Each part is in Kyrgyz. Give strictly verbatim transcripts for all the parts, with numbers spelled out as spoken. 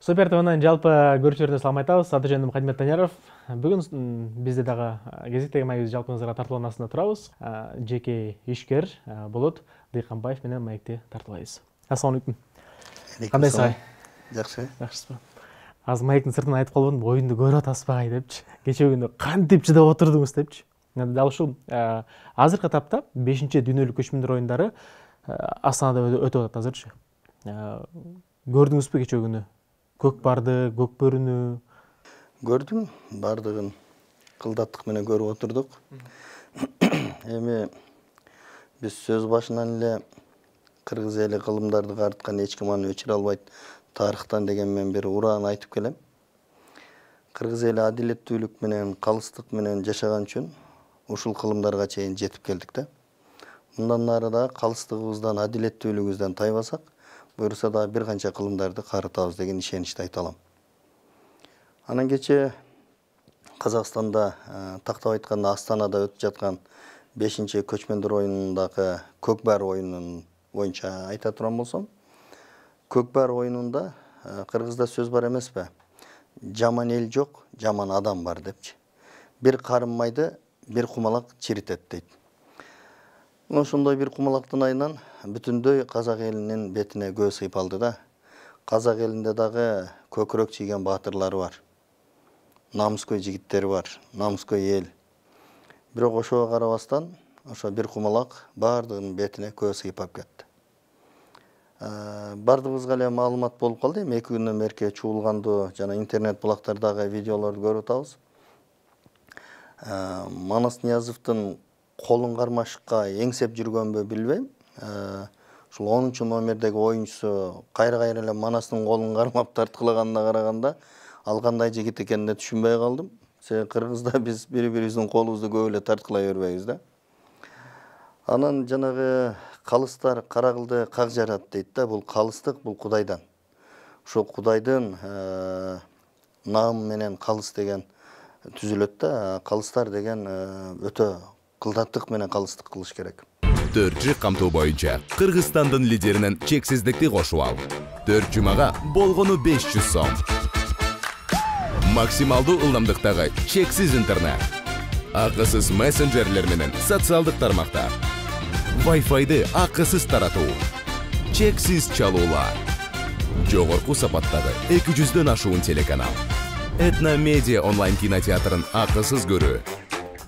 Супер ТВнын жалпы көрүүчүлөрүнө салам айтабыз. Аты жөнүм Кадимет Таняров. Бүгүн бизде дагы кезектеги маегибиз жалпыңыздарга тартуулган астында турабыз. Жеке ишкер Болот Дыйканбаев менен маекти тартуулайбыз. Ассалам алейкум. Кандайсыз агай? Жакшы. Жакшысызбы? Азыр маектин сыртынан айтып калбадым, оюнду көрүп атасызбы агай депчи. Кечээ күнү кантип чыдап отурдуңуз депчи. Дал ушул азыркы этапта бешинчи дүйнөлүк көчмөндөр оюндары Астанада өтүп атат азырчы. Көрдүңүзбү кечээ күнү? Көк барды, көк бөрүнү? Көрдүм, бардыгын кылдаттык менен көрүп отурдук. Эми биз сөз башынан эле кыргыз эли кылымдарды карыткан эч ким аны өчүрө албайт тарыхтан деген мен бир ураан айтып келем. Кыргыз эли адилеттүүлүк менен, калыстык менен жашаган үчүн ушул кылымдарга чейин жетип келдик да. Мындан ары да калыстыгыбыздан, адилеттүүлүгүбүздөн тайбасак, буюрса да бир канча кылымдарды карытабыз деген ишеничти айта алам. Анан кечээ Казакстанда тактап айтканда Астанада өтүп жаткан бешинчи көчмөндөр оюнундагы көк баар оюнунун боюнча айта турган болсом, көк баар оюнунда кыргызда сөз бар эмеспи? Жаман эл жок, жаман адам бар депчи. Бир карын майды бир кумалак чиритет дейт. Ошондой бир кумалактын айынан бүтүндөй казак элинин бетине көз сыйып алды да. Казак элинде дагы көкүрөк чийген баатырлары бар. Намыскөй жигиттери бар, намыскөй эл. Бирок ошого карабастан, ошо бир кумалак бардыгынын бетине көз сыйып алып кетти. Бардыгыбызга эле маалымат болуп калды, эми эки күндөн берки чуулгандуу жана интернет булактардагы видеолорду көрүп атабыз. Манас Ниязовдун колун кармашыкка эңсеп жүргөнбү билбейм. Ушул онунчу номердеги оюнчусу кайра-кайра эле Манастын колун кармап тарткылаганына караганда, ал кандай жигит экенине түшүнбөй калдым. Себеби кыргызда биз бири-бирибиздин колубузду көп эле тарткылай бербейбиз да. Анан жанагы калыстар кара кылды как жарат дейт да, бул калыстык, бул Кудайдан. Ошол Кудайдын наамы менен калыс деген түзүлөт да, калыстар деген өтө кылдаттык менен калыстык кылыш керек. Төрт жыл камтуу боюнча Кыргызстандын лидеринен чексиздикти кошуп ал. Төрт жумага болгону беш жүз сом. Максималдуу ылдамдыктагы чексиз интернет. Акысыз мессенджерлер менен социалдык тармактар. Wi-Fi'ды акысыз таратуу. Чексиз чалуулар. Жогорку сапаттагы эки жүздөн ашуун телеканал. Этно Медиа онлайн кинотеатрын акысыз көрүү.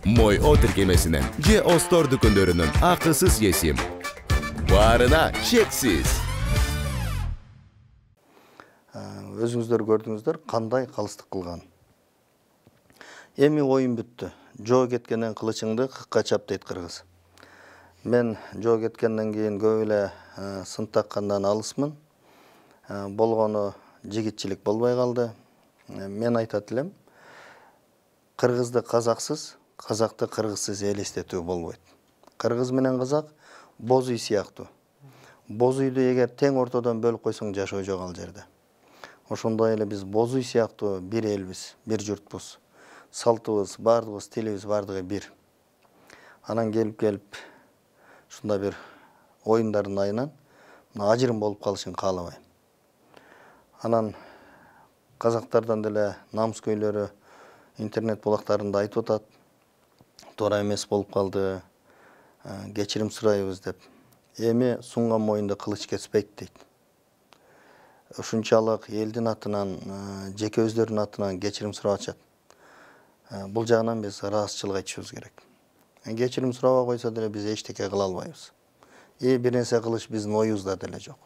Мой О тиркемесинен же Остор дүкөндөрүнүн акысыз есим. Баарына чексиз. Өзүңүздөр көрдүңүздөр кандай калыстык кылган. Эми оюн бүттү. Жоо кеткенден кылычыңды кыкка чап дейт кыргыз. Мен жоо кеткенден кийин көп эле сын таккандан алысмын. Болгону жигитчилик болбой калды. Мен айтат элем, кыргызды казаксыз, казакты кыргызсыз элестетүү болбойт. Кыргыз менен казак боз үй сыяктуу. Боз үйдү эгер тең ортодон бөлүп койсоң жашоо жок ал жерде. Ошондой эле биз боз үй сыяктуу бир элбиз, бир журтпуз. Салтыбыз, бардыгыбыз, тилибиз бардыгы бир. Анан келип-келип ушундай бир оюндардын айынан ажырым болуп калышын каалабайм. Анан казактардан деле намыскөйлөрү интернет булактарында айтып атат. Туура эмес болуп калды, кечирим сурайбыз деп. Эми сунган моюнда кылыч кеспейт дейт. Ушунчалык элдин атынан, жеке өздөрүнүн атынан кечирим сурап атышат. Бул жагынан биз ыраазычылык айтышыбыз керек. Кечирим сурабай койсо деле биз эчтеке кыла албайбыз. И бир нерсе кылыш биздин оюбузда деле жок.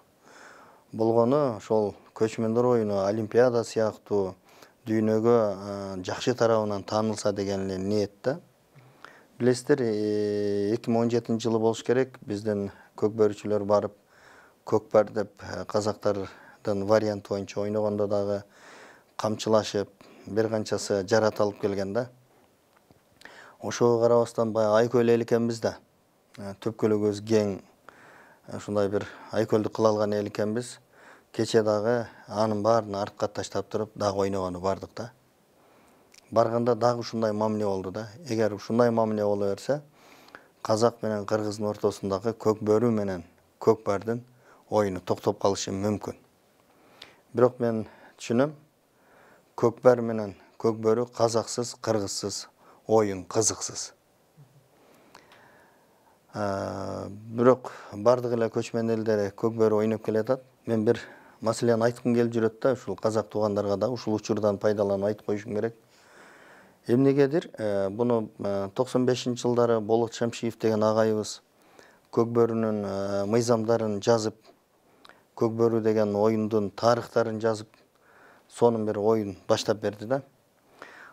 Болгону ошол көчмөндөр оюну Олимпиада сыяктуу дүйнөгө жакшы тарабынан таанылса деген эле ниетте. Билесиздер, эки миң он жетинчи жылы болуш керек, биздин көк бөрүчүлөр барып көк бар деп казактардын варианты боюнча ойногондо дагы камчылашып, бир канчасы жарат алып келген да. Ошого карабастан баягы айкөл эл экенбиз да. Төпкөлөгүбүз кең, ушундай бир айкөлдү кыла алган эл экенбиз. Кече дагы анын баарын артка таштап туруп дагы ойногону бардык да. Барганда дагы ушундай мамиле болду да. Эгер ушундай мамиле боло берсе, казак менен кыргыздын ортосундагы көк бөрү менен көк бардын оюну токтоп калышы мүмкүн. Бирок мен түшүнөм. Көкбөр менен көкбөрү казаксыз, кыргызсыз оюн, кызыксыз. Бирок бардык эле көчмөн элдер көкбөрү ойноп келатат. Мен бир маселени айткым келип жүрөт да, ушул казак туугандарга да ушул учурдан пайдаланып айтып коюшум керек. Эмнегедир, буну токсон бешинчи жылдары Болот Шамшиев деген агайыбыз көкбөрүнүн мыйзамдарын жазып, көкбөрү деген оюндун тарыхтарын жазып, сонун бир оюн баштап берди да.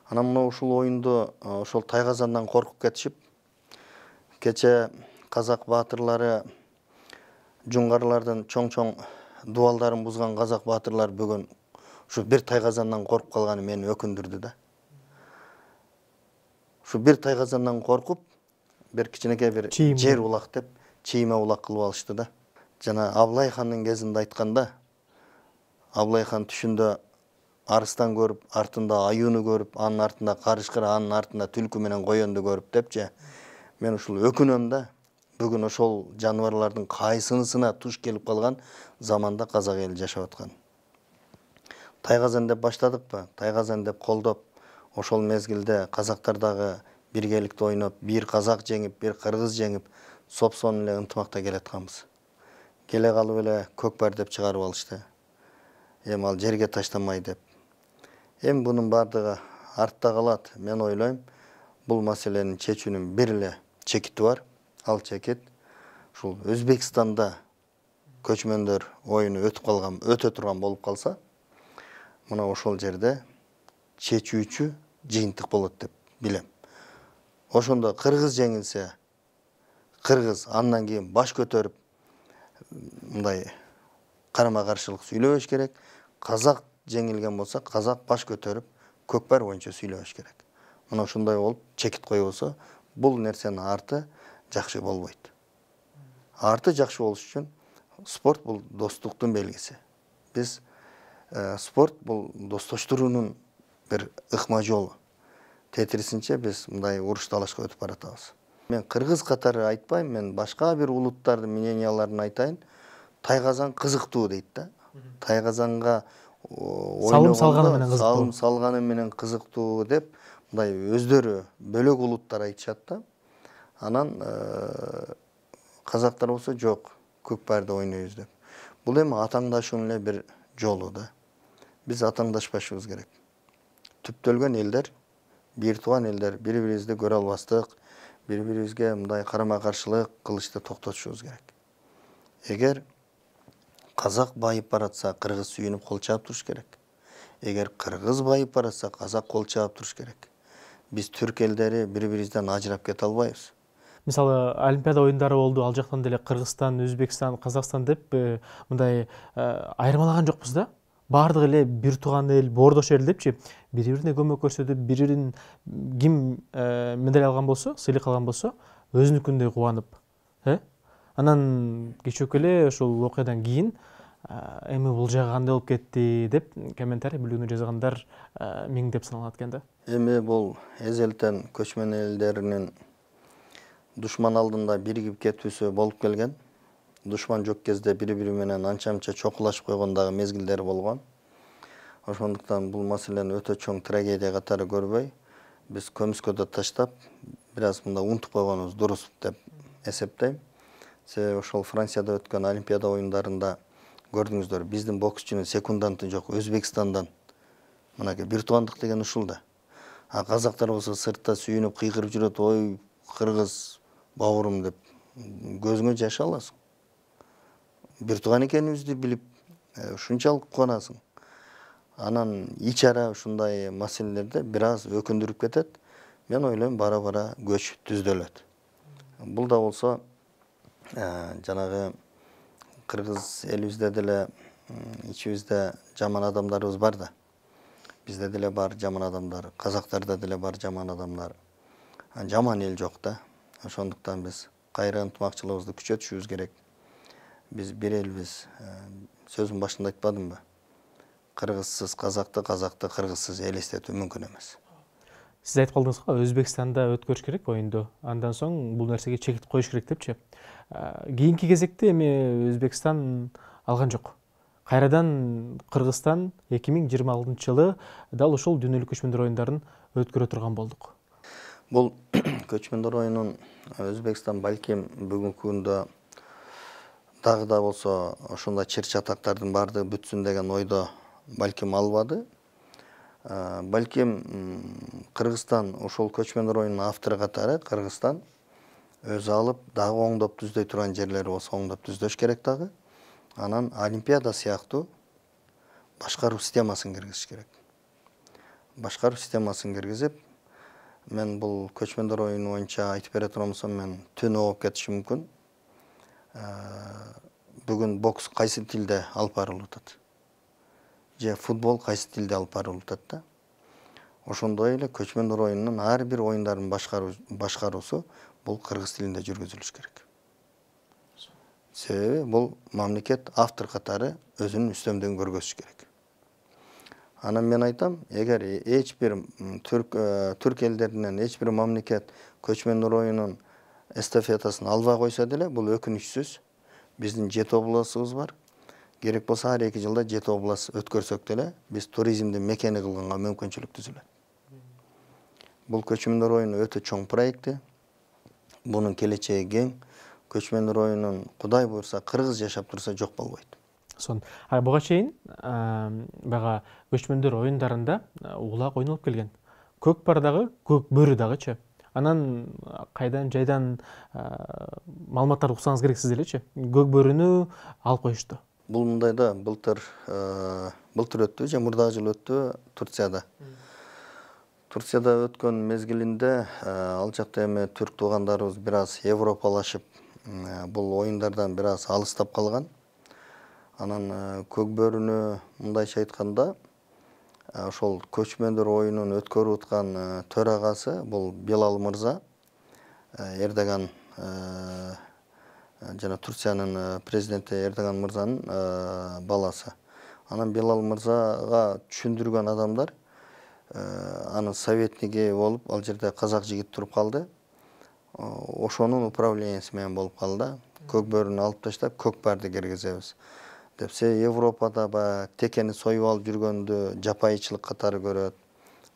Анан мына ушул оюнду ошол тайгазандан коркуп кетишип, кече казак баатырлары жуңгарлардын чоң-чоң дубалдарын бузган казак баатырлар бүгүн ушу бир тайгазандан коркуп калганы мени өкүндүрдү да. Ушу бир тайгазандан коркуп, бир кичинекей бир жер улак деп чийме улак кылып алышты да. Жана Аблай хандын кезинде айтканда, Аблай хан түшүндө арыстан көрүп, артында аюуну көрүп, анын артында карышкыр, анын артында түлкү менен коёнду көрүп депчи. Мен ушул өкүнөм да. Бүгүн ошол жаныбарлардын кайсынысына туш келип калган заманда казак эли жашап аткан. Тайгазан деп баштадыкпы? Тайгазан деп колдоп, ошол мезгилде казактар дагы биргеликте ойноп, бир казак жеңип, бир кыргыз жеңип, сопсон эле ынтымакта келатканбыз. Келе калып эле көкбөр деп чыгарып алышты. Эми ал жерге таштанмай деп. Эми бунун бардыгы артта калат. Мен ойлойм, бул маселенин чечүүнүн бир эле чекити бар. Ал чекит ушул Өзбекстанда көчмөндөр оюну өтүп калган, өтө турган болуп калса, мына ошол жерде чечүүчү жыйынтык болот деп билем. Ошондо кыргыз жеңилсе, кыргыз андан кийин баш көтөрүп мындай карама-каршылык сүйлөбөш керек. Казак жеңилген болсо, казак баш көтөрүп көкбөр боюнча сүйлөбөш керек. Мына ушундай болуп чекит койбосо, бул нерсенин арты жакшы болбойт. Арты жакшы болуш үчүн спорт бул достуктун белгиси. Биз спорт бул достоштуруунун бир ыкма жолу. Тетирисинче биз мындай уруш талашка өтүп баратабыз. Мен кыргыз катары айтпайм, мен башка бир улуттардын мненияларын айтайын. Тайгазан кызыктуу дейт да. Тайгазанга салым салганы менен кызыктуу. Салым салганы менен кызыктуу деп мындай өздөрү бөлөк улуттар айтышат да. Анан казактар болсо жок, көкбөрдү ойнойбуз деп. Бул эми атаңдашуунун эле бир жолу да. Биз атаңдашпашыбыз керек. Түптөлгөн элдер, бир тууган элдер бири-бирибизди көрө албастык, бири-бирибизге мындай карама-каршылык кылышты токтотушубуз керек. Эгер казак байып баратса, кыргыз сүйүнүп кол чаап туруш керек. Эгер кыргыз байып баратса, казак кол чаап туруш керек. Биз түрк элдери бири-бирибизден ажырап кете албайбыз. Мисалы, Олимпиада оюндары болду, ал жактан деле Кыргызстан, Өзбекстан, Казакстан деп мындай айырмалаган жокпуз да. Бардык эле бир тууган эл, боордош эл депчи, бири-бирине көмөк көрсөтүп, бири-бирин ким медаль алган болсо, сыйлык алган болсо, өзүнүкүндөй кубанып, э? Анан кечөөкү эле ушул окуядан кийин эми бул жагы кандай болуп кетти деп комментарий бүлүгүнө жазгандар миңдеп саналат экен да. Эми бул эзелтен көчмөн элдеринин душман алдында биригип кетүүсү болуп келген. Душман жок кезде бири-бири менен анча-мынча чокулашып койгондагы мезгилдери болгон. Ошондуктан бул маселени өтө чоң трагедия катары көрбөй, биз көмүскөдө таштап, бир аз мында унутуп койгонубуз дурус деп эсептейм. Себеби ошол Францияда өткөн Олимпиада оюндарында көрдүңүздөр, биздин боксчунун секунданты жок, Өзбекстандан. Мынакей бир туугандык деген ушул да. А казактар болсо сыртта сүйүнүп кыйкырып жүрөт, ой, кыргыз бауырым деп. Көзүңө жаш аласың. Бир тууган экенибизди билип, ушунчалык кубанасың. Анан ичара ушундай маселелерде бир аз өкүндүрүп кетет. Мен ойлойм, бара-бара көч түздөлөт. Бул да болсо жанагы кыргыз элибизде деле ичибизде жаман адамдарыбыз бар да. Бизде деле бар жаман адамдар, казактарда деле бар жаман адамдар. Жаман эл жок да. Ошондуктан биз кайра ынтымакчылыгыбызды күчөтүшүбүз керек. Биз бир элбиз. Сөзүм башында айтпадымбы? Кыргызсыз казакты, казакты кыргызсыз элестетүү мүмкүн эмес. Сиз айтып калдыңыз го, Өзбекстанда өткөрүш керек оюнду. Андан соң бул нерсеге чекит коюш керек депчи. Кийинки кезекте эми Өзбекстан алган жок. кайрадан Кыргызстан эки миң жыйырма алтынчы жылы дал ушул дүйнөлүк көчмөндөр оюндарын өткөрө турган болдук. Бул көчмөндөр оюнун Өзбекстан балким бүгүнкү күндө дагы да болсо ошондой чыр чатактардын баардыгы бүтсүн деген ойдо балким албады. Балким Кыргызстан ошол көчмөндөр оюнунун автору катары Кыргызстан өзү алып дагы оңдоп түздөй турган жерлери болсо оңдоп түздөш керек дагы. Анан Олимпиада сыяктуу башкаруу системасын киргизиш керек. Башкаруу системасын киргизип, мен бул көчмөндөр оюну боюнча айтып бере турган болсом, мен түнү болуп кетишим мүмкүн. Бүгүн бокс кайсы тилде алып барылып атат? Же футбол кайсы тилде алып барылып атат да? Ошондой эле көчмөндөр оюнунун ар бир оюндардын башкаруусу бул кыргыз тилинде жүргүзүлүш керек. Себеби бул мамлекет автор катары өзүнүн үстөмдүгүн көргөзүш керек. Анан мен айтам, эгер эч бир түрк түрк элдеринен эч бир мамлекет көчмөндөр оюнунун эстафетасын албай койсо деле, бул өкүнүчсүз. Биздин жети областыбыз бар. Керек болсо ар эки жылда жети област өткөрсөк деле, биз туризмдин мекени кылганга мүмкүнчүлүк түзүлөт. Бул көчмөндөр оюну өтө чоң проекти. Бунун келечеги кең. Көчмөндөр оюнун Кудай буйрса кыргыз жашап турса жок болбойт. Сон. А буга чейин бага көчмөндөр оюндарында улак ойнолуп келген. Көк бар дагы, көк бөрү дагычы. Анан кайдан жайдан маалыматтарды уксаңыз керексиз элечи. Көк бөрүнү алып коюшту. Бул мындай да, былтыр былтыр өттү, же мурдагы жыл өттү Турцияда. Турцияда өткөн мезгилинде ал жакта эми түрк туугандарыбыз бир аз европалашып, бул оюндардан бир аз алыстап калган. Анан көк бөрүнү мындайча айтканда, ошол көчмөндөр оюнун өткөрүп аткан төрагасы бул Белал мырза, Эрдоган жана Турциянын президенти Эрдоган мырзанын баласы. Анан Белал мырзага түшүндүргөн адамдар анын советниги болуп, ал жерде казак жигит туруп калды. Ошонун управленияси менен болуп калды. Көк бөрүнү алып таштап, көк барды киргизебиз деп. Се Европада ба текени союп алып жүргөндү жапайычылык катары көрөт,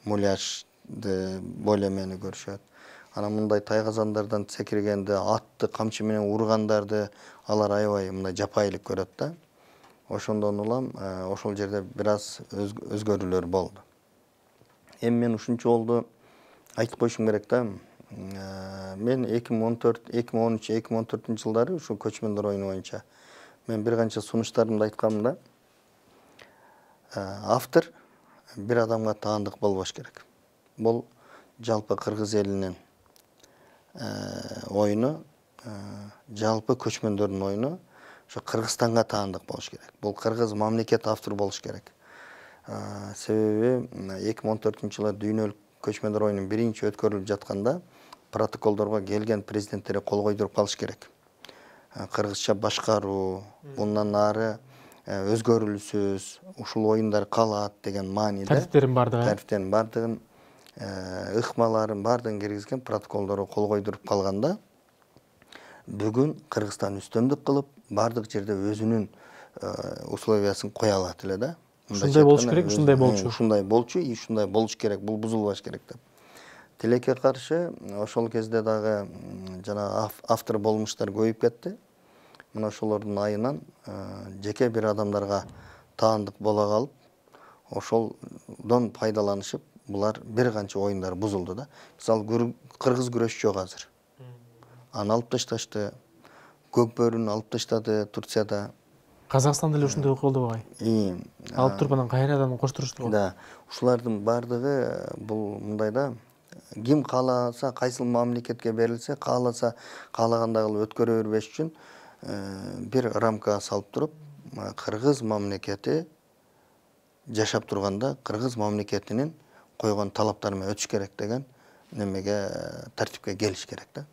муляжды, болемени көрүшөт. Анан мындай тайгазандардан секиргенди, атты камчы менен ургандарды алар аябай мындай жапайылык көрөт да. Ошондон улам ошол жерде бир аз өзгөрүүлөр болду. Эми мен ушунча болду айтып коюшум керек да. Мен эки миң он төрт, эки миң он үч, эки миң он төртүнчү жылдары ушу көчмөндөр оюну боюнча мен бир канча сунуштарымда айтканмын да. Автор бир адамга таандык болбош керек. Бул жалпы кыргыз элинин оюну, жалпы көчмөндөрдүн оюну ошо Кыргызстанга таандык болуш керек. Бул кыргыз мамлекет автор болуш керек. Себеби эки миң он төртүнчү жылы дүйнөлүк көчмөндөр оюнун биринчи өткөрүлүп жатканда протоколдорго келген президенттер кол койдуруп калыш керек. Кыргызча башкаруу, bundan ары өзгөрүлүсүз, ушул оюндар калат деген мааниде. Тарифтерин бардыгы. Тарифтерин бардыгын, ыкмаларын бардыгын киргизген протоколдорго кол койдуруп калганда, бүгүн Кыргызстан үстөмдүк кылып, бардык жерде өзүнүн условиясын кое алат эле да. Ушундай болуш керек, ушундай болчу. Ушундай болчу, и ушундай болуш керек, бул бузулбаш керек деп. Тилекке каршы ошол кезде дагы жана автор болмуштар көбөйүп кетти. Мына ошолордун айынан жеке бир адамдарга таандык боло калып, ошолдон пайдаланышып, булар бир канча оюндар бузулду да. Мисалы, кыргыз күрөшчү жок азыр. Аны алып ташташты. Көк бөрүнү алып таштады Турцияда. Казакстанда эле ушундай окуя болду бугай. Алып туруп анан кайрадан коштурушту. Да, ушулардын бардыгы бул мындай да, ким кааласа, кайсыл мамлекетке берилсе, кааласа каалагандай кылып өткөрө бербеш үчүн бир рамка салып туруп, кыргыз мамлекети жашап турганда кыргыз мамлекетинин койгон талаптары менен өтүш керек деген немеге тартипке келиш керек да.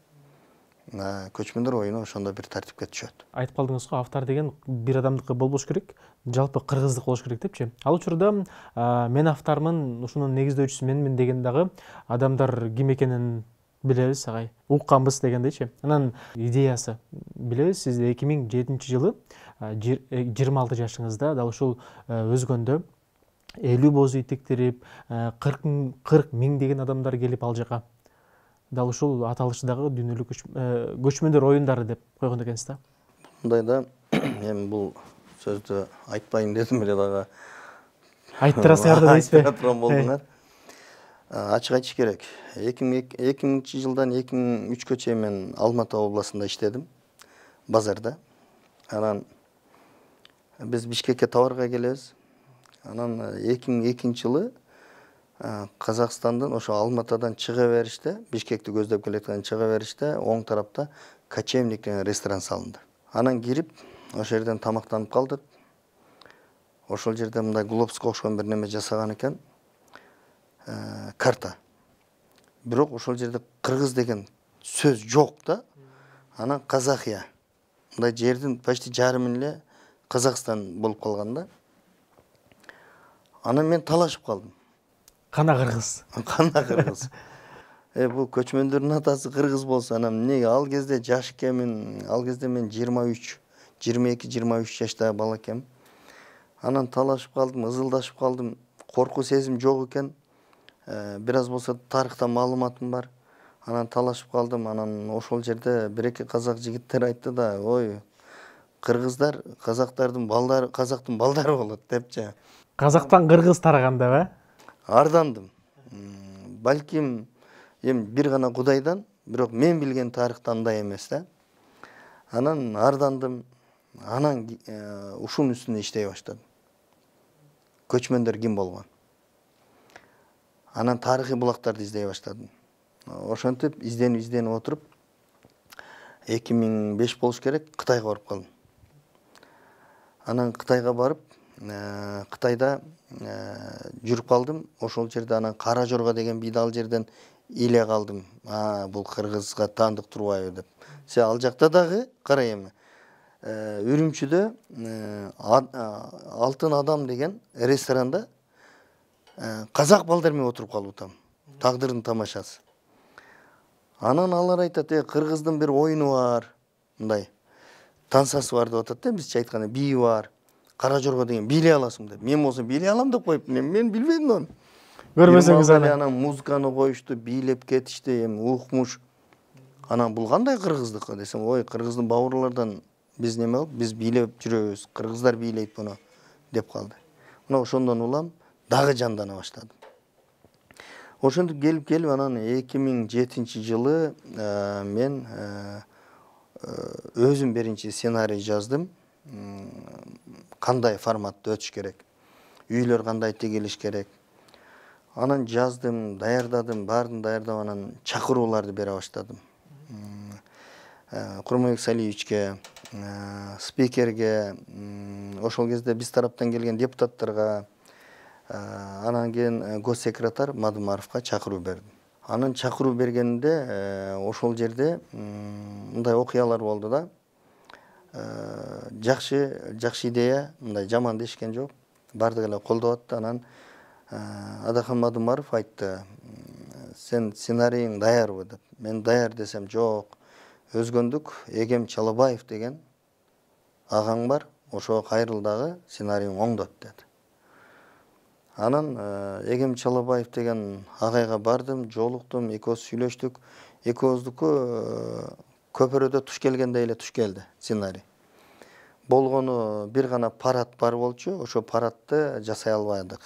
Көчмөндөр оюну ошондо бир тартипке түшөт. Айтып калдыңыз го, автор деген бир адамдыкы болбош керек, жалпы кыргыздык болуш керек депчи. Ал учурда мен автормун, ушунун негиздөөчүсү менмин деген дагы адамдар ким экенин Билебиз агай. Укканбыз дегендейчи. Анан идеясы билебиз, сиз эки миң жетинчи жылы жыйырма алты жашыңызда дал ушул өзгөндө элүү бозу итектирип, кырк миңдеген адамдар келип ал жака дал ушул аталыштагы дүйнөлүк көчмөндөр оюндары деп койгон экенсиз да. Мындайда эми бул сөздү айтпайын дедим эле дагы. Айттырасыңар да дейсизби? Айттыра турган болдуңар. Ачык айтыш керек. эки миңинчи жылдан эки миң үчкө чейин мен Алматы областында иштедим, базарда. Анан биз Бишкекке товарга келебиз. Анан эки миң экинчи жылы Казакстандан ошо Алматадан чыга бериште, Бишкекти көздөп келаткан чыга бериште оң тарапта Кочевник деген ресторан салынды. Анан кирип, ошол жерден тамактанып калдык. Ошол жерде мындай глобуска окшогон бир неме жасаган экен. Карта. Бирок ошол жерде кыргыз деген сөз жок да. Анан Казахия. Мындай жердин почти жарымын эле Казакстан болуп калган да. Анан мен талашып калдым. Кана кыргыз. Кана кыргыз. Э бул көчмөндөрдүн атасы кыргыз болсо, анан эмнеге ал кезде жаш экенмин, ал кезде мен жыйырма үч, жыйырма эки, жыйырма үч жаштагы бала экенмин. Анан талашып калдым, ызылдашып калдым. Коркуу сезим жок экен. Бир аз болсо тарыхтан маалыматым бар. Анан талашып калдым. Анан ошол жерде бир эки казак жигиттер айтты да, ой, кыргыздар казактардын балдары, казактын балдары болот депчи. Казактан кыргыз тараганда ба? Ардандым. Балким эми бир гана Кудайдан, бирок мен билген тарыхта андай эмес да. Анан ардандым. Анан ушунун үстүнө иштей баштадым. Көчмөндөр ким болгон? Анан тарыхый булактарды издей баштадым. Ошентип изденип изденип отуруп эки миң беш болуш керек, Кытайга барып калдым. Анан Кытайга барып, Кытайда жүрүп калдым. Ошол жерде анан Кара Жорго деген бийди ал жерден иле калдым. А, бул кыргызга таандык турбайбы деп. Се ал жакта дагы карай эми. Үрүмчүдө Алтын адам деген ресторанда казак балдар менен отуруп калып атам. Тагдырдын тамашасы. Анан алар айтат, э кыргыздын бир оюну бар, мындай тансасы бар деп атат да, бизче айтканда бии бар. Кара Жорго деген бийлей аласың деп. Мен болсо бийлей алам деп коюп, мен билбедим аны. Көрбөсөңүз аны. Анан музыканы коюшту, бийлеп кетишти, эми укмуш. Анан бул кандай кыргыздык десем, ой, кыргыздын бауырлардан биз неме болуп, биз бийлеп жүрөбүз, кыргыздар бийлейт буну деп калды. Мына ошондон улам дагы жандана баштадым. Ошентип келип келип анан эки миң жетинчи жылы мен өзүм биринчи сценарий жаздым. Кандай форматта өтүш керек, үйлөр кандай тигилиш керек. Анан жаздым, даярдадым, баарын даярдап анан чакырууларды бере баштадым. Курманбек Салиевичке, спикерге, ошол кезде биз тараптан келген депутаттарга, анан кийин госсекретарь Мадумаровго чакыруу бердим. Анан чакыруу бергенде ошол жерде мындай окуялар болду да. Жакшы, жакшы идея, мындай жаман дешкен жок. Бардыгы эле колдоп атты. Анан Адахан Мадумаров айтты, сен сценарийиң даярбы деп. Мен даяр десем, жок. Өзгөндүк Эгем Чалабаев деген агаң бар, ошого кайрыл дагы сценарийиң оңдот деди. Анан Эгем Чалабаев деген агайга бардым, жолуктум, экөөбүз сүйлөштүк. Экөөбүздүкү көпөрөдө туш келгендей эле туш келди сценарий. Болгону бир гана парад бар болчу, ошо парадты жасай албадык.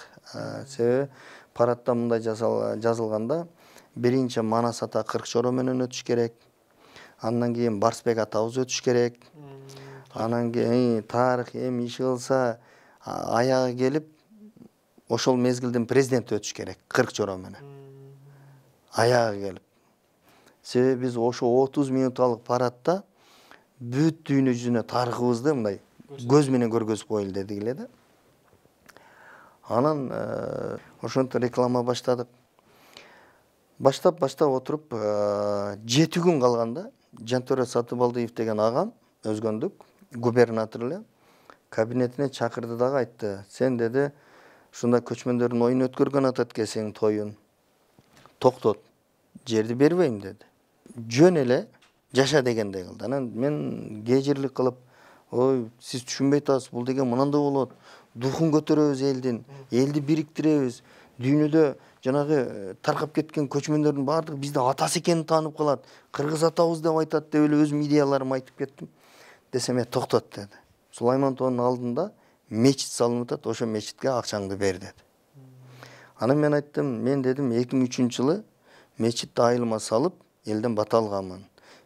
Себеби парадта мындай жазылганда биринчи Манас ата кырк чоро менен өтүш керек. Андан кийин Барсбек атабыз өтүш керек. Анан кийин тарых эми иши кылса аягы келип ошол мезгилдин президенти өтүш керек кырк чоро менен. Аягы келип. Себеби биз ошо отуз минутталык парадта бүт дүйнө жүзүнө тарыхыбызды мындай көз менен көргөзүп коелу дедик эле да. Анан ошентип реклама баштадык. Баштап баштап отуруп жети күн калганда Жантөре Сатыбалдиев деген агам өзгөндүк губернатор эле кабинетине чакырды дагы айтты. Сен деди, ушундай көчмөндөрдүн оюн өткөргөн атат экенсиң тоюн. Токтот. жерди бербейм деди. Жөн эле жаша дегендей кылды. Анан мен кежирлик кылып, ой, сиз түшүнбөй атасыз, бул деген мынандай болот. Духун көтөрөбүз элдин, элди бириктиребиз. Дүйнөдө жанагы таркап кеткен көчмөндөрдүн баардыгы бизди атасы экенин таанып калат. Кыргыз атабыз деп айтат деп эле өзүм идеяларымды айтып кеттим. Десем, "Э, токтот" деди. Сулаймантоонун алдында мечит салынып атат, ошо мечитке акчаңды бер деди. Анан мен айттым, мен дедим эки миң үчүнчү жылы мечитти айылыма салып, элден бата алганмын.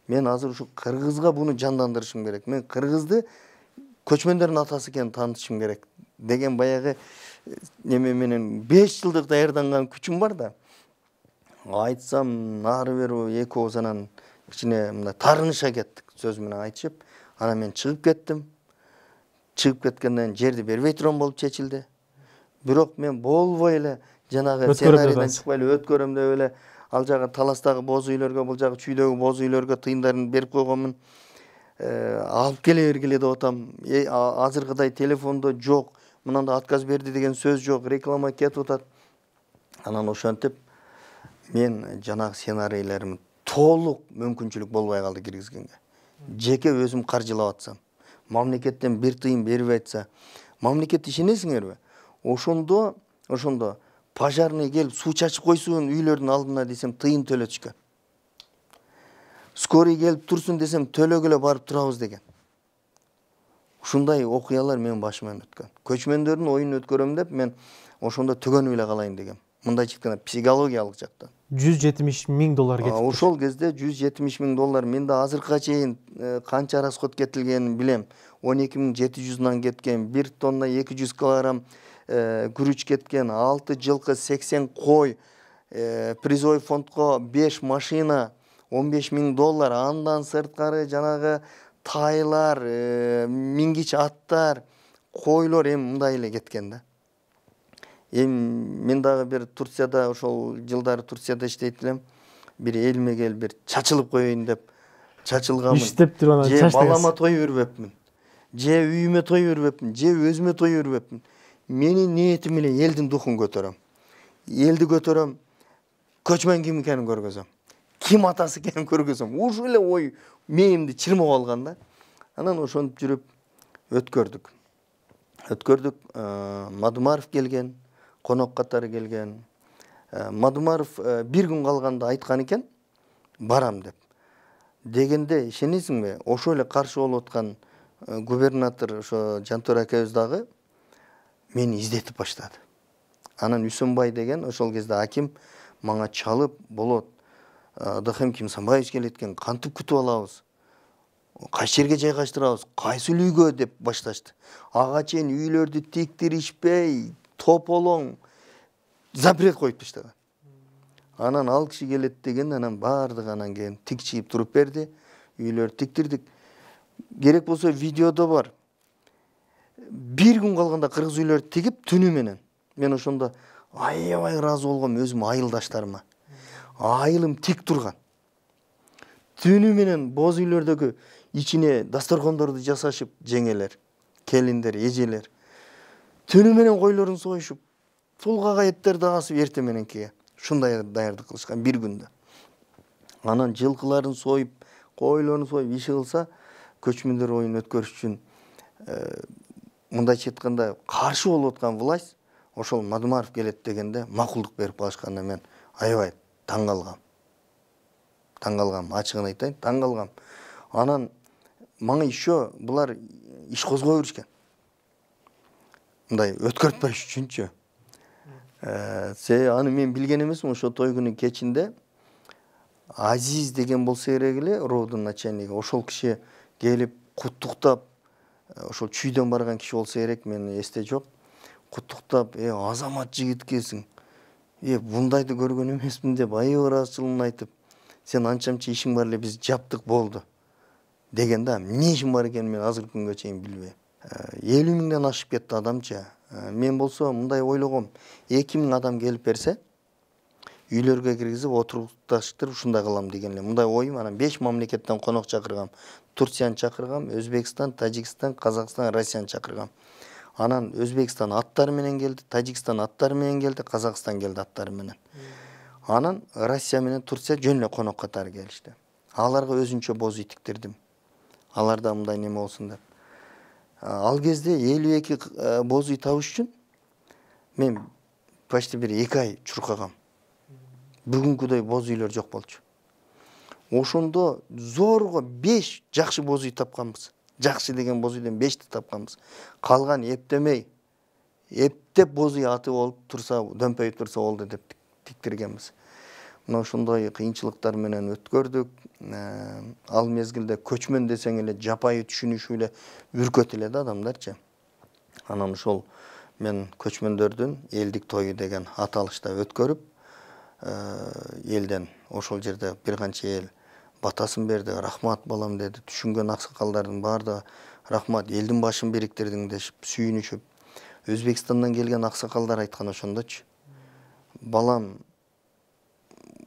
Мен азыр ушу кыргызга буну жандандырышым керек. Мен кыргызды көчмөндөрдүн атасы экенин таанытышым керек деген баягы неме менен беш жылдык даярданган күчүм бар да. Айтсам, нары бери эки ооз анан кичине мындай тарыныша кеттик, сөз менен айтышып. Анан мен чыгып кеттим. Чыгып кеткенден жерди бербей турган болуп чечилди. Бирок мен болбой эле жанагы сценарийден чыкпай эле өткөрөм деп эле ал жагы таластагы боз үйлөргө, бул жагы чүйдөгү боз үйлөргө тыйындарын берип койгонмун. Алып келе бергиле деп атам. Азыркыдай телефондо жок, мынандай отказ берди деген сөз жок, реклама кетип атат. Анан ошентип мен жанагы сценарийлеримди толук мүмкүнчүлүк болбой калды киргизгенге. Жеке өзүм каржылап атсам, мамлекеттен бир тыйын бербей атса, мамлекет ишенесиңерби? Ошондо, ошондо пожарный келип суу чачып койсун үйлөрдүн алдына десем тыйын төлөтүшкөн. Скорый келип турсун десем төлөгөлө барып турабыз деген. Ушундай окуялар менин башыман өткөн. Көчмөндөрдүн оюнун өткөрөм деп мен ошондо төгөнүп эле калайын дегем. Мындайча айтканда психологиялык жактан. жүз жетимиш миң доллар кетип. Ошол кезде жүз жетимиш миң доллар. Мен да азыркыга чейин канча расход кетилгенин билем. он эки миң жети жүз нан кеткен, бир тонна эки жүз килограмм күрүч кеткен, алты жылкы, сексен кой, призой фондко беш машина, он беш миң доллар, андан сырткары жанагы тайлар, мингич аттар, койлор эми мындай эле кеткен да. Эми мен дагы бир Турцияда, ошол жылдары Турцияда иштейт элем. Бир элиме келип бир чачылып коеюн деп чачылганмын. Иштеп туруп анан чачтыңыз. Же балама той бербепмин, же үйүмө той бербепмин, же өзүмө той бербепмин. Менин ниетим эле элдин духун көтөрөм. Элди көтөрөм, көчмөн ким экенин көргөзөм. Ким атасы экенин көргөзөм. Ушул эле ой мээнимди чырмап алган да. Анан ошентип жүрүп өткөрдүк. Өткөрдүк. Мадумаров келген, конок катары келген. Мадумаров бир күн калганда айткан экен, барам деп. Дегенде ишенесиңби, ошол эле каршы болуп аткан губернатор ошо Жантөр акебиз дагы мени издетип баштады. Анан Үсөнбай деген ошол кезде аким мага чалып, болот, Дыхым Кимсанбаевич келет экен, кантип күтүп алабыз? Кайсы жерге жайгаштырабыз? Кайсы үйгө деп башташты. Ага чейин үйлөрдү тиктиришпей, тополоң запрет коюп таштаган. Анан ал киши келет деген, анан баардыгы анан кийин тикчип туруп берди. Үйлөрдү тиктирдик. Керек болсо видеодо бар. Бир күн калганда кыргыз үйлөрдү тигип түнү менен. Мен ошондо аябай ыраазы болгом өзүм айылдаштарыма. Айылым тик турган. Түнү менен боз үйлөрдөгү ичине дасторкондорду жасашып, жеңелер, келиндер, эжелер. Түнү менен койлорун союшуп, тулгага эттерди асып эрте мененкиге. Ушундай даярдык кылышкан бир күндө. Анан жылкыларын союп, койлорун союп иши кылса, көчмөндөр оюн өткөрүш үчүн мындайча айтканда каршы болуп аткан власть ошол Мадумаров келет дегенде макулдук берип калышканда мен аябай таң калгам. Таң калгам, ачыгын айтайын, таң калгам. Анан мага еще булар иш козгой беришкен. Мындай өткөртпөш үчүнчү. Се аны мен билген эмесмин, ошо той күнү кечинде Азиз деген болсо керек эле, роодун начальниги. Ошол киши келип куттуктап, ошол чүйдөн барган киши болсо керек, мен эсте жок. Куттуктап, "Э, азамат жигит экенсиң. Э, бундайды көргөн эмесмин" деп айып ыраазычылыгын айтып, "Сен анча-мынча ишиң бар эле, биз жаптык болду" деген да. Эмне ишим бар экенин мен азыркы күнгө чейин билбейм. элүү миңден ашып кетти адамча. Мен болсо мындай ойлогом. эки миң адам келип берсе, үйлөргө киргизип отурукташтырып ушундай кылам деген эле. Мындай оюм. Анан беш мамлекеттен конок чакыргам. Турцияны чакыргам, Өзбекстан, Тажикстан, Казакстан, Россияны чакыргам. Анан Өзбекстан аттары менен келди, Тажикстан аттары менен келди, Казакстан келди аттары менен. Анан Россия менен Турция жөн эле конок катары келишти. Аларга өзүнчө боз үй тиктирдим. Аларда мындай неме болсун деп. Ал кезде элүү эки боз үй табыш үчүн мен почти бир эки ай чуркагам. Бүгүнкүдөй боз үйлөр жок болчу. Ошондо зорго беш жакшы боз үй тапканбыз. Жакшы деген боз үйдөн бешти тапканбыз. Калган эптемей, эптеп боз үй аты болуп турса, дөмпөйүп турса болду деп тиктиргенбиз. Мына ошондой кыйынчылыктар менен өткөрдүк. Ал мезгилде көчмөн десең эле жапайы түшүнүшүп эле үркөт эле да адамдарчы. Анан ошол мен көчмөндөрдүн элдик тою деген аталышта өткөрүп, элден ошол жерде бир канча эл батасын берди, рахмат балам деди. Түшүнгөн аксакалдардын баардыгы рахмат, элдин башын бириктирдиң дешип, сүйүнүшүп. Өзбекстандан келген аксакалдар айткан ошондочу. Балам,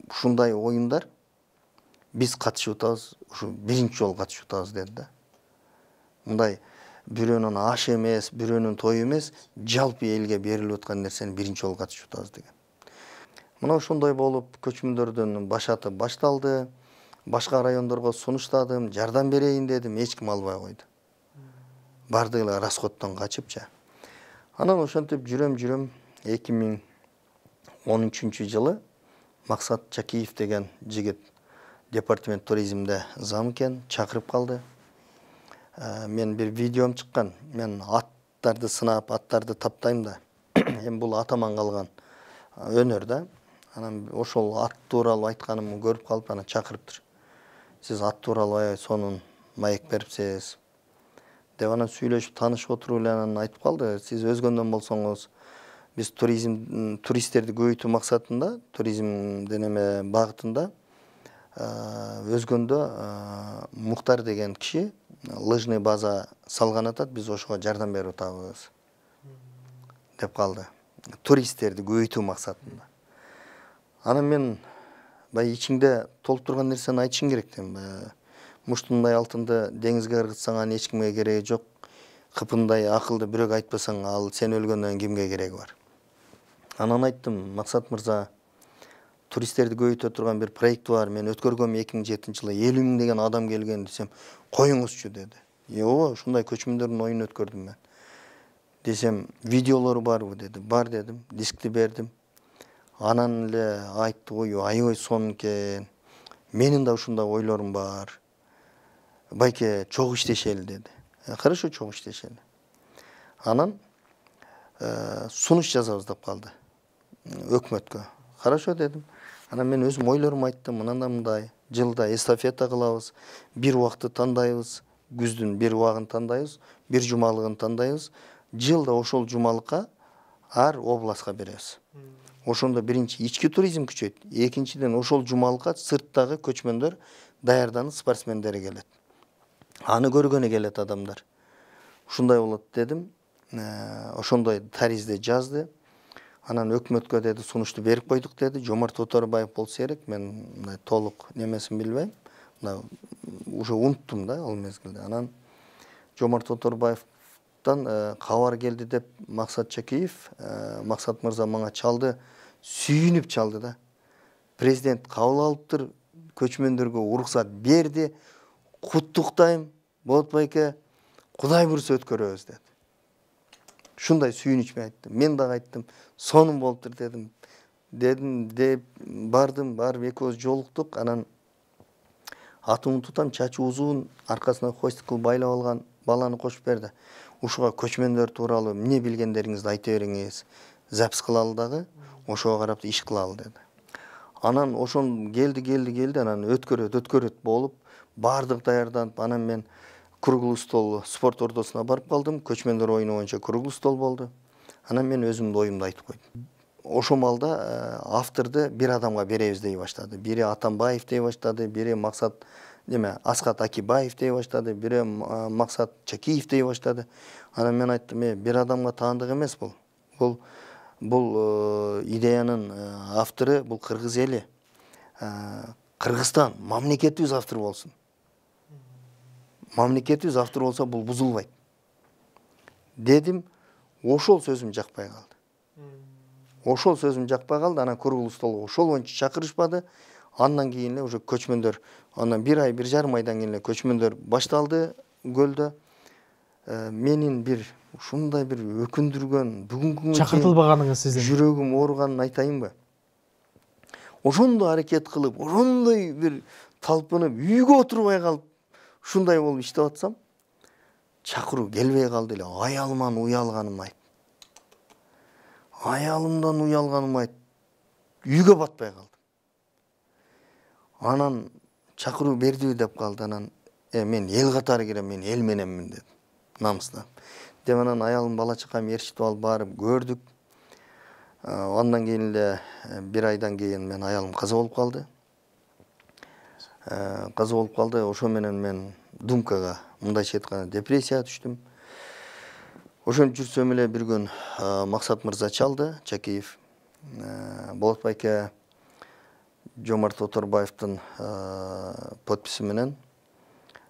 ушундай оюндар биз катышып атабыз, ушу биринчи жолу катышып атабыз деди да. Мындай бирөөнүн ашы эмес, бирөөнүн тою эмес, жалпы элге берилип аткан нерсени биринчи жолу катышып атабыз деген. Мына ошондой болуп көчмөндөрдүн башаты башталды. Башка райондорго сунуштадым, жардам берейин дедим, эч ким албай койду. Бардыгы эле расходдон качыпчы. Анан ошентип жүрөм-жүрөм эки миң он үчүнчү жылы Максат Чакиев деген жигит департамент туризмде зам экен, чакырып калды. Мен бир видеом чыккан. Мен аттарды сынап, аттарды таптайм да. Эми бул атаман калган өнөр да. Анан ошол ат тууралуу айтканымды көрүп калып, анан чакырыптыр. Сиз ат тууралуу аябай сонун маек берипсиз деп анан сүйлөшүп, таанышып отуруп эле анан айтып калды. Сиз өзгөндөн болсоңуз, биз туризм туристтерди көбөйтүү максатында, туризмдин эме багытында өзгөндө Муктар деген киши лыжный база салган атат, биз ошого жардам берип атабыз деп калды. Туристтерди көбөйтүү максатында. Анан мен бай ичиңде толуп турган нерсени айтышың керек дейм. Муштундай алтынды деңизге ыргытсаң аны эч кимге кереги жок. Кыпындай акылды бирөөгө айтпасаң, ал сен өлгөндөн кимге кереги бар. Анан айттым, Максат мырза, туристтерди көбөйтө турган бир проект бар. Мен өткөргөм эки миң жетинчи жылы элүү миң деген адам келген десем, коюңузчу деди. Ооба, ушундай көчмөндөрдүн оюн өткөрдүм мен. Десем, видеолору барбы деди. Бар дедим, дискти бердим. Анан эле айтты, ой, аябай сонун экен. Менин да ушундай ойлорум бар. Байке, чогуу иштешели деди. Хорошо, чогуу иштешели. Анан сунуш жазабыз деп калды өкмөткө. Хорошо дедим. Анан мен өзүм ойлорумду айттым, мындай мындай. Жылда эстафета кылабыз, бир убакты тандайбыз, күздүн бир убагын тандайбыз, бир жумалыгын тандайбыз. Жылда ошол жумалыкка ар областка беребиз. Ошондо биринчи ички туризм күчөйт, экинчиден ошол жумалыкка сырттагы көчмөндөр даярданып спортсмендери келет. Аны көргөнү келет адамдар. Ушундай болот дедим. Ошондой таризде жазды. Анан өкмөткө деди, сунушту берип койдук деди. Жомарт Оторбаев болсо керек, мен мындай толук немесин билбейм. Мына уже унуттум да ал мезгилде. Анан Жомарт Оторбаевтан кабар келди деп Максат Чакиев, Максат мырза мага чалды, сүйүнүп чалды да. Президент кабыл алыптыр, көчмөндөргө уруксат берди. Куттуктайм, болот байке, Кудай буйруса өткөрөбүз деди. Ушундай сүйүнүч менен айтты. Мен дагы айттым, сонун болуптур дедим. Дедим деп бардым, барып экөөбүз жолуктук. Анан атымды тутам, чачы узун, аркасына хвостик кылып байлап алган баланы кошуп берди. Ушуга көчмөндөр тууралуу эмне билгендериңизди айта бериңиз. Запись кылалы дагы, ошого карап иш кылалы деди. Анан ошон келди, келди, келди, анан өткөрөт, өткөрөт болуп, бардык даярданып, анан мен круглый стол спорт ордосуна барып калдым. Көчмөндөр оюну боюнча круглый стол болду. Анан мен өзүмдүн оюмду айтып койдум. Ошол малда авторду бир адамга беребиз дей баштады. Бири Атамбаев дей баштады, бири Максат неме Аскат Акибаев дей баштады, бири Максат Чакиев дей баштады. Анан мен айттым, э, бир адамга таандык эмес бул. Бул бул идеянын автору бул кыргыз эли. Кыргызстан мамлекетибиз автор болсун. Мамлекетибиз автор болсо бул бузулбайт. Дедим, ошол сөзүм жакпай калды. Ошол сөзүм жакпай калды. Анан круглый столго ошол боюнча чакырышпады. Андан кийин эле уже көчмөндөр, андан бир ай, бир жарым айдан кийин эле көчмөндөр башталды көлдө. Менин бир ушундай бир өкүндүргөн, бүгүнкү күнгө чакыртылбаганыңыз сиздин жүрөгүм ооруганын айтайынбы? Ошондой аракет кылып, ошондой бир талпынып, үйгө отурбай калып, ушундай болуп иштеп атсам, чакыруу келбей калды эле. Аялыман уялганым айт. Аялымдан уялганым айт. Үйгө батпай калдым. Анан чакыруу бердиби деп калды. Анан э мен эл катары кирем, мен эл мененмин дедим. Намыстан. Деп анан аялым бала чакам ээрчитип алып барып көрдүк. Андан кийин эле бир айдан кийин мен аялым каза болуп калды. Каза болуп калды. Ошо менен мен думкага, мындайча айтканда, депрессияга түштүм. Ошентип жүрсөм эле бир күн Максат мырза чалды, Чакиев. Болот байке Жомарт Оторбаевдин подписи менен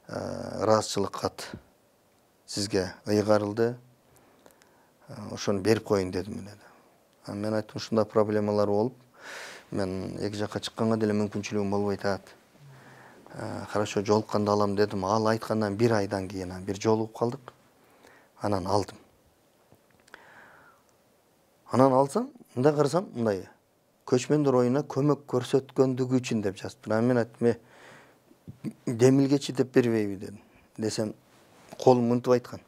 ыраазычылык кат сизге ыйгарылды. Ошону берип коюн дедим эле. Мен айттым, ушундай проблемалар болуп, мен эки жакка чыкканга деле мүмкүнчүлүгүм болбой атат. Хорошо, жолукканда алам дедим. Ал айткандан бир айдан кийин бир жолугуп калдык. Анан алдым. Анан алсам, мындай карасам, мындай көчмөндөр оюна көмөк көрсөткөндүгү үчүн деп жазыптыр. Анан мен айттым, демилгечи деп бербейби дедим. Десем, колум мынтип айткан.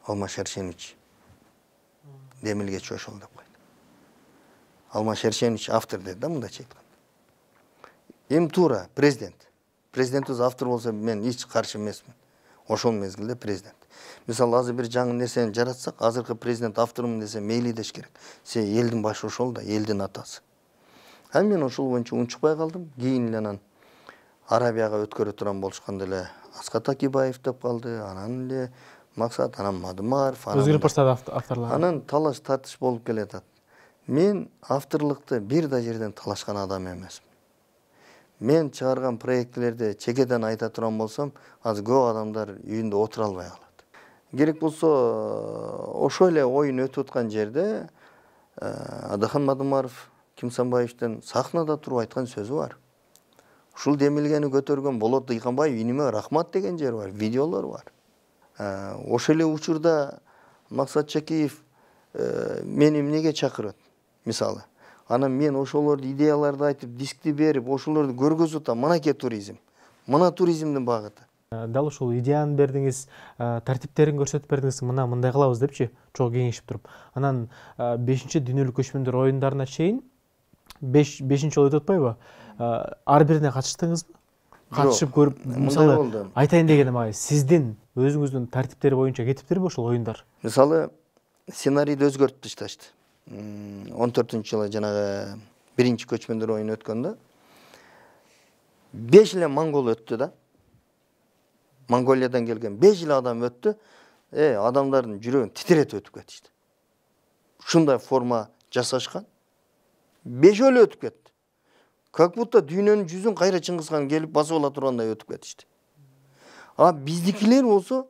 Алмаз Шершенович. Демилгечи ошол деп койду. Алмаз Шершенович автор деди да, мындайча айтканда. Эми туура президент. Президент өз автор болсо мен эч каршы эмесмин. Ошол мезгилде президент. Мисалы, азыр бир жаңы нерсени жаратсак, азыркы президент автормун десе мейли деш керек. Се элдин башы ошол да, элдин атасы. А мен ошол боюнча унчукпай калдым. Кийин эле анан Арабияга өткөрө турган болушканда эле Аскат Акибаев деп калды, анан эле Максат, анан Мадымаров, өзгөрүп баштады авторлор. Анан талаш тартыш болуп келатат. Мен авторлукты бир да жерден талашкан адам эмесмин. Мен чыгарган проектлерди чекеден айта турган болсом, азыр көп адамдар үйүндө отура албай калат. Керек болсо, ошол эле оюн өтүп аткан жерде Адахан Мадымаров Кимсанбаевдин сахнада туруп айткан сөзү бар. Ушул демилгени көтөргөн Болот Дыйканбаев иниме рахмат деген жери бар, видеолор бар. Ошол эле учурда Максат Чакиев мени эмнеге чакырат, мисалы. Анан мен ошолорду идеяларды айтып, дискти берип, ошолорду көргөзүп атам. Мынакей туризм. Мына туризмдин багыты. Дал ушул идеяны бердиңиз, тартиптерин көрсөтүп бердиңиз, мына мындай кылабыз депчи, чогуу кеңешип туруп. Анан бешинчи дүйнөлүк көчмөндөр оюндарына чейин бешинчи жолу өтүп атпайбы? Ар бирине катыштыңызбы? Катышып көрүп, мисалы, айтайын дегеним ай, сиздин өзүңүздүн тартиптери боюнча кетиптирби ошол оюндар? Мисалы, сценарийди өзгөртүп ташташты. он төртүнчү жылы жанагы биринчи көчмөндөр оюну өткөндө беш эле монгол өттү да. Монголиядан келген беш эле адам өттү. Э, адамдардын жүрөгүн титиретип өтүп кетишти. Ушундай форма жасашкан. Бешөөлө өтүп кетти. Как будто дүйнөнүн жүзүн кайра Чыңгызхан келип басып ала тургандай өтүп кетишти. А биздикилер болсо,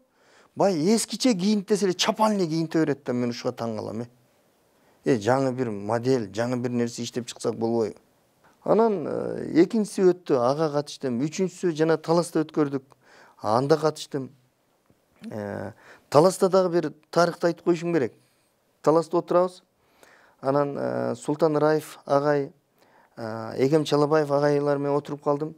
бай эскиче кийинтесе эле чапан эле кийинте берет да, мен ушуга таң калам, э. Э, жаңы бир модель, жаңы бир нерсе иштеп чыксак болбойбу? Анан экинчиси өттү, ага катыштым. Үчүнчүсү жана Таласта өткөрдүк. Анда катыштым. Таласта дагы бир тарыхты айтып коюшум керек. Таласта отурабыз. Анан Султан Раев агай, Эгем Чалабаев агайлар менен отуруп калдым.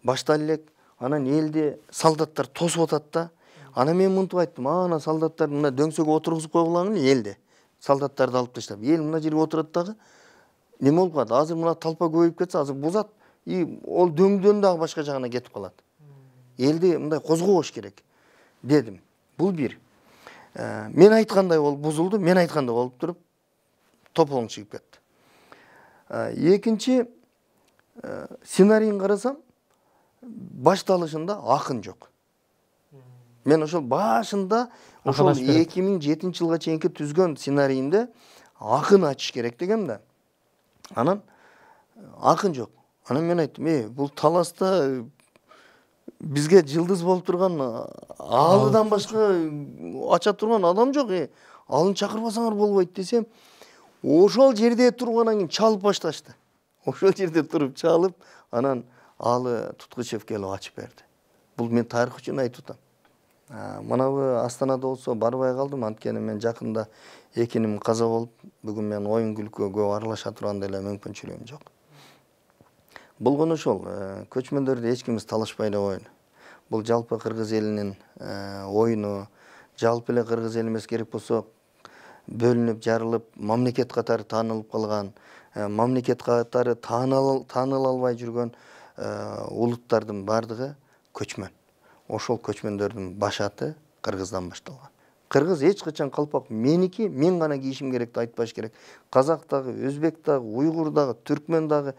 Баштайлы элек. Анан элди солдаттар тосуп атат да. Анан мен мынтип айттым, ана солдаттар мына дөңсөгө отургузуп койгулагын элди. Солдаттарды алып таштап, эл мына жерге отурат дагы. Неме болуп калат? Азыр мына талпа көбөйүп кетсе, азыр бузат, и ол дөңдөн дагы башка жагына кетип калат. Элди мындай козгобош керек дедим. Бул бир. Мен айткандай болуп бузулду, мен айткандай болуп туруп тополоң чыгып кетти. Экинчи, сценарийин карасам, башталышында акын жок. Мен ошол башында, ошол эки миң жетинчи жылга чейинки түзгөн сценарийинде акын ачыш керек дегем да. Анан акын жок. Анан мен айттым, э, бул Таласта бизге жылдыз болуп турган, алыдан башка ача турган адам жок, э. Алын чакырбасаңар болбойт десем, ошол жерде тургандан кийин чалып башташты. Ошол жерде туруп чалып, анан алы туткучев келип ачып берди. Бул мен тарых үчүн айтып атам. Манабы Астанада болсо барбай калдым, анткени мен жакында экиним каза болуп, бүгүн мен оюн күлкүгө көп аралаша турган деле мүмкүнчүлүгүм жок. Болгону ошол, көчмөндөрдү эч кимибиз талашпай эле коелу. Бул жалпы кыргыз элинин оюну, жалпы эле кыргыз эл эмес, керек болсо бөлүнүп, жарылып, мамлекет катары таанылып калган, мамлекет катары тааныла албай жүргөн улуттардын бардыгы көчмөн. Ошол көчмөндөрдүн башаты Кыргыздан башталган. Кыргыз эч качан калпак меники, мен гана кийишим керек деп айтпаш керек. Казак дагы, өзбек дагы, уйгур дагы, түркмен дагы,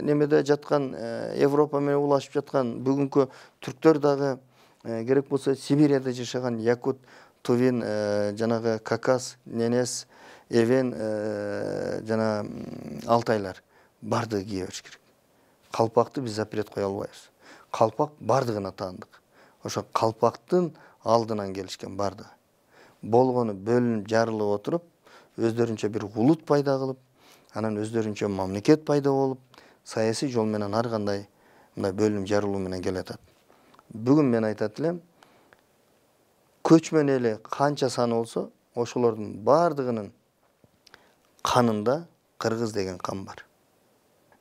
немеде жаткан, Европа менен улашып жаткан бүгүнкү түрктөр дагы, керек болсо Сибирияда жашаган якут, тувин, жанагы Кавказ, ненес, эвен жана алтайлар бардыгы кие бериш керек. Калпакты биз запрет кое албайбыз. Калпак бардыгына таандык. Ошо калпактын алдынан келишкен бардыгы. Болгону бөлүнүп, жарылып отуруп, өздөрүнчө бир улут пайда кылып, анан өздөрүнчө мамлекет пайда болуп, саясий жол менен ар кандай мындай бөлүнүп жарылуу менен келатат. Бүгүн мен айтат элем, көчмөн эли канча саны болсо, ошолордун бардыгынын канында кыргыз деген кан бар.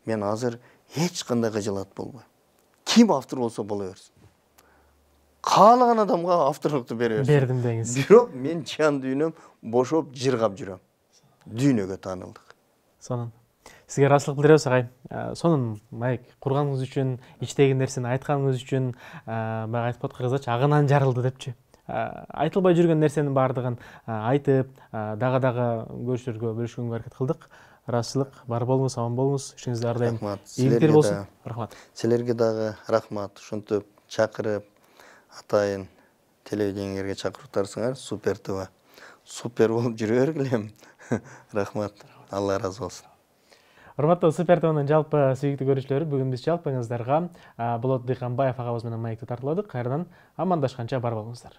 Мен азыр эч кандай кыжалат болбойм. Ким автор болсо боло берсин. Каалаган адамга авторлукту бере берсин. Бердим деңиз. Бирок мен жан дүйнөм бошоп жыргап жүрөм. Дүйнөгө таанылдык. Сонун. Сизге ыраазычылык билдиребиз агай. Сонун маек курганыңыз үчүн, ичтеги нерсени айтканыңыз үчүн, баягы айтып атат кыргызча агынан жарылды депчи. Айтылбай жүргөн нерсенин бардыгын айтып, дагы-дагы көрүүчүлөргө бөлүшкөнгө аракет кылдык. Ыраазычылык, бар болуңуз, аман болуңуз. Ишиңизде ар дайым ийгиликтер болсун. Рахмат. Силерге дагы рахмат. Ушинтип чакырып, атайын телевидениеге чакырыптарсыңар, Супер ТВ. Супер болуп жүрө бергилем. Рахмат. Алла ыраазы болсун. Урматтуу Супер ТВнын жалпы сүйүктүү көрүүчүлөрү, бүгүн биз жалпыңыздарга Болот Дыйканбаев агабыз менен маекти тартууладык. Кайрадан амандашканча бар болуңуздар.